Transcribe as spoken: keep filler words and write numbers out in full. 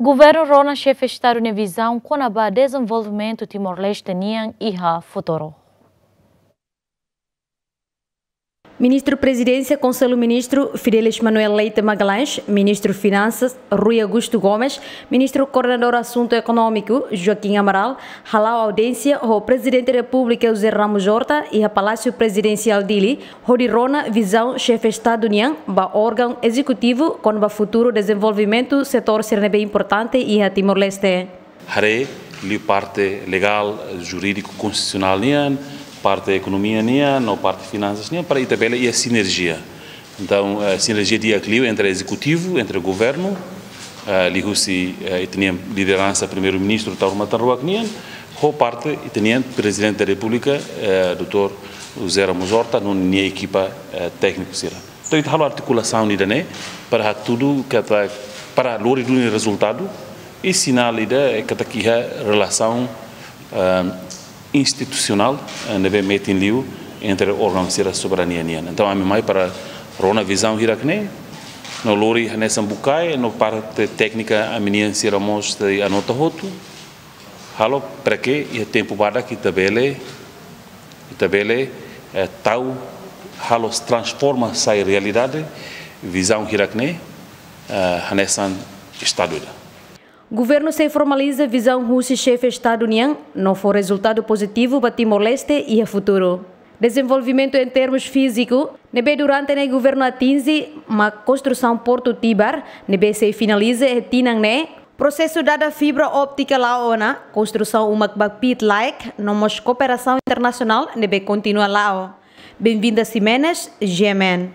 Governu rona Xefe Estadu nia vizaun kona-ba dezenvolvimentu Timor-Leste nian iha futuru. Ministru Prezidénsia Konsellu Ministru Fidelis Manuel Leite Magalhães, Ministru Finansas Rui Augusto Gomes, Ministru Koordenadór Asuntu Ekonómiku Joaquim Amaral, hala'o audiénsia ho Prezidente Repúblika José Ramos Horta iha Palásiu Prezidensiál Dili, hodi rona vizaun Xefe Estadu nian ba órgaun ezekutivu kona-ba futuru dezenvolvimentu setór sira ne'ebé importante iha Timor-Leste. Haree liu parte legál, jurídiku, konstitusionál nian, parte ekonomia nian, no parte finansas nian, para ita bele iha sinerjia. Entaun, eh, sinerjia di'ak liu entre ezekutivu, entre governu, eh, liuhusi, eh, ita-nia lideransa Primeiru-Ministru Taur Matan Ruak nian, ho parte ita-nia Prezidente da Repúblika, eh, doutór José Ramos Horta, no nia ekipa, eh, tékniku sira. Entaun, ita halo artikulasaun ida-ne'e para hatudu katak, para lori duni rezultadu, i sinál ida katak iha relasaun, ah, institusionál, eh, ne'ebé metin liu entre órgaun sira soberania nian. Entaun, ami mai para rona vizaun hirak-ne'e, no lori hanesan bukae, no parte téknika ami-nian sira mós sei anota hotu, halo para ke iha tempu badak ita bele, ita bele, eh, tau, halo transforma sai realidade vizaun hirak-ne'e, eh, hanesan Estadu ida. Governu sei formaliza vizaun husi Xefe Estadu nian no fó rezultadu pozitivu ba Timor-Leste iha futuru. Dezenvolvimentu em termus fíziku, ne'ebé durante ne'e governu atinje, mak konstrusaun Portu Tibar, ne'ebé sei finaliza iha tinan ne'e, prosesu dada fibra óptika la'o ona, konstrusaun uma kbak pit laek, no mós kooperasaun internasionál ne'ebé kontinua la'o. Benvinda Ximenes, G M N.